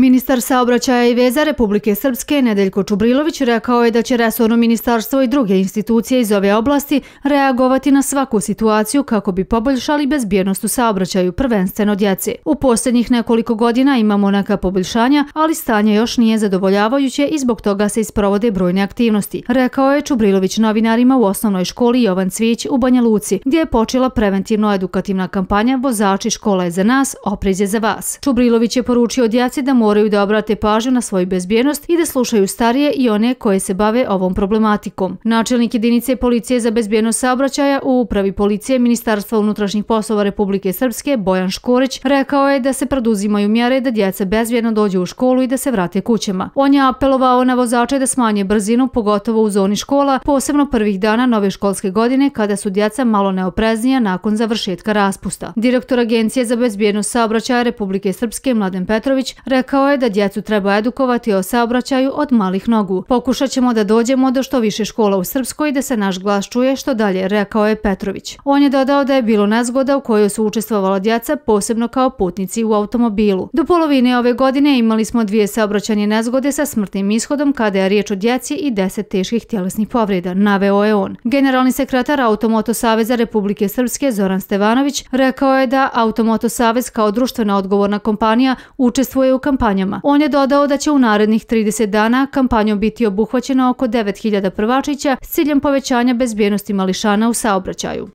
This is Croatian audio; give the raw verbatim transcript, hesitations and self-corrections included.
Ministar saobraćaja i veza Republike Srpske Nedeljko Čubrilović rekao je da će resorno ministarstvo i druge institucije iz ove oblasti reagovati na svaku situaciju kako bi poboljšali bezbjednost u saobraćaju, prvenstveno djece. U posljednjih nekoliko godina imamo neka poboljšanja, ali stanje još nije zadovoljavajuće i zbog toga se isprovode brojne aktivnosti, rekao je Čubrilović novinarima u osnovnoj školi Jovan Cvijić u Banja Luci, gdje je počela preventivno-edukativna kampanja Vozači, škola je za nas, oprez je za vas. Čubrilović je poručio djeci da moraju da obrate pažnju na svoju bezbjednost i da slušaju starije i one koje se bave ovom problematikom. Načelnik jedinice policije za bezbjednost saobraćaja u upravi policije Ministarstva unutrašnjih poslova Republike Srpske Bojan Škorić rekao je da se preduzimaju mjere da djeca bezbjedno dođu u školu i da se vrate kućama. On je apelovao na vozače da smanje brzinu, pogotovo u zoni škola, posebno prvih dana nove školske godine kada su djeca malo neopreznija nakon završetka raspusta. Direktor Agencije za bezbjednost saobraćaja Republike Srpske Mladen Petrović rekao je da djecu treba edukovati o saobraćaju od malih nogu. Pokušat ćemo da dođemo do što više škola u Srpskoj i da se naš glas čuje što dalje, rekao je Petrović. On je dodao da je bilo nezgoda u kojoj su učestvovala djeca, posebno kao putnici u automobilu. Do polovine ove godine imali smo dvije saobraćajne nezgode sa smrtnim ishodom kada je riječ o djeci i deset teških tjelesnih povreda, naveo je on. Generalni sekretar Automoto saveza Republike Srpske Zoran Stevanović rekao je da Automoto savez kao društvena odgovorna kompanija učestvuje u kampanjama. On je dodao da će u narednih trideset dana kampanjom biti obuhvaćeno oko devet hiljada prvačića s ciljem povećanja bezbjednosti mališana u saobraćaju.